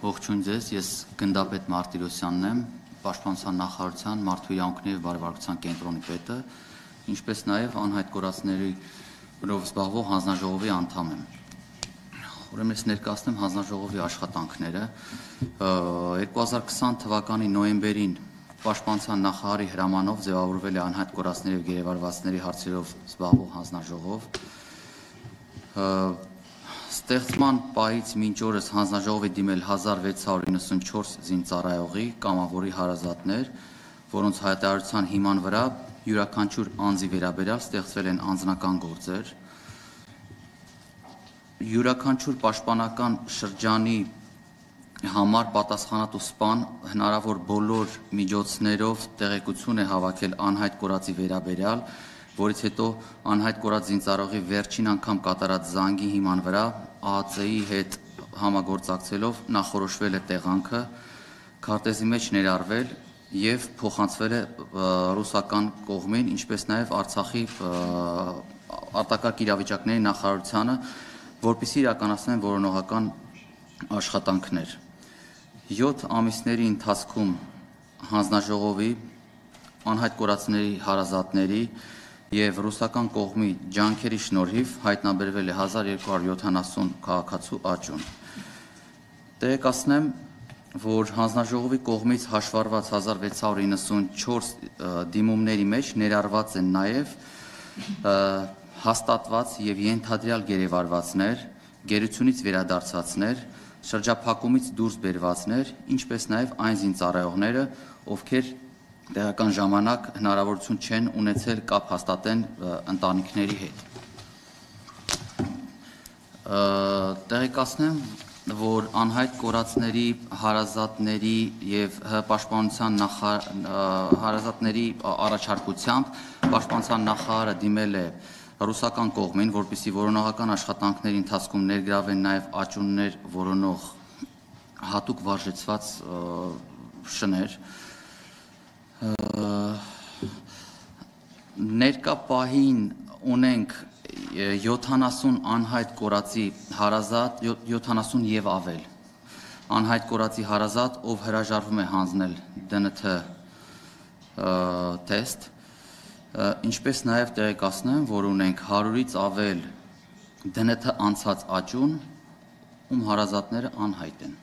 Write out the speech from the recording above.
Ողջույն ձեզ, ես Գնդապետ Մարտիրոսյանն եմ, Պաշտպանության նախարարության մարդու իրավունքների և բարեվարկության կենտրոնի պետը, ինչպես նաև անհայտ կորածներով զբաղվող հանձնաժողովի անդամ եմ։ Ուրեմն ես ներկայացնեմ հանձնաժողովի աշխատանքները։ 2020 թվականի նոյեմբերին Պաշտպանության նախարարի հրամանով ձևավորվել է անհայտ կորածների և գերեվարվածների հարցերով զբաղվող հանձնաժողով։ Ստեղծման պահից մինչ օրս հանձնաժողովի դիմել 1694 զինծառայողի կամավորի հարազատներ, որոնց հայտարարության հիման վրա յուրաքանչյուր անձի վերաբերյալ ստեղծվել են անձնական գործեր։ Յուրաքանչյուր պաշտպանական շրջանի համար պատասխանատու սպան հնարավոր բոլոր միջոցներով տեղեկություն է հավաքել անհայտ կորածի վերաբերյալ, որից հետո անհայտ կորած զինծառայողի վերջին անգամ կատարած զանգի հիման վրա ԱԱԾ-ի հետ համագործակցելով նախորոշվել է տեղանքը, քարտեզի մեջ ներառվել և փոխանցվել է ռուսական կողմին, ինչպես նաև Արցախի արտակարգ իրավիճակների նախարարությանը, որպեսզի իրականացնեն որոնողական աշխատանքներ։ 7 ամիսների ընթացքում հանձնաժողովի, անհայտ կորածների հարազատների և ռուսական կողմի ջանքերի շնորհիվ հայտնաբերվել է 1270 քաղաքացու աճուն։ Տեղեկացնեմ, որ հանձնաժողովի կողմից հաշվառված 1694 դիմումների մեջ ներառված են նաև հաստատված և ենթադրյալ գերեվարվածներ, գերությունից վերադարձածներ, շրջափակումից դուրս բերվածներ, ինչպես նաև այն զինծառայողները, ովքեր տեղական ժամանակ հնարավորություն չեն ունեցել կապ հաստատեն ընտանիքների հետ։ Տեղեկացնեմ, որ անհայտ կորածների հարազատների և պաշտպանության հարազատների առաջարկությամբ պաշտպանության նախարարը դիմել է ռուսական կողմին, որպեսզի որոնողական աշխատանքների ընթացքում ներգրավեն նաև աճուններ որոնող հատուկ վարժեցված շներ։ Ներկա պահին ունենք 70 անհայտ կորածի հարազատ, 70 և ավել անհայտ կորածի հարազատ, ով հրաժարվում է հանձնել ԴՆԹ թեստ, ինչպես նաև տեղեկացնեմ, որ ունենք 100-ից ավել ԴՆԹ անցած աճուն, ում հարազատները անհայտ են։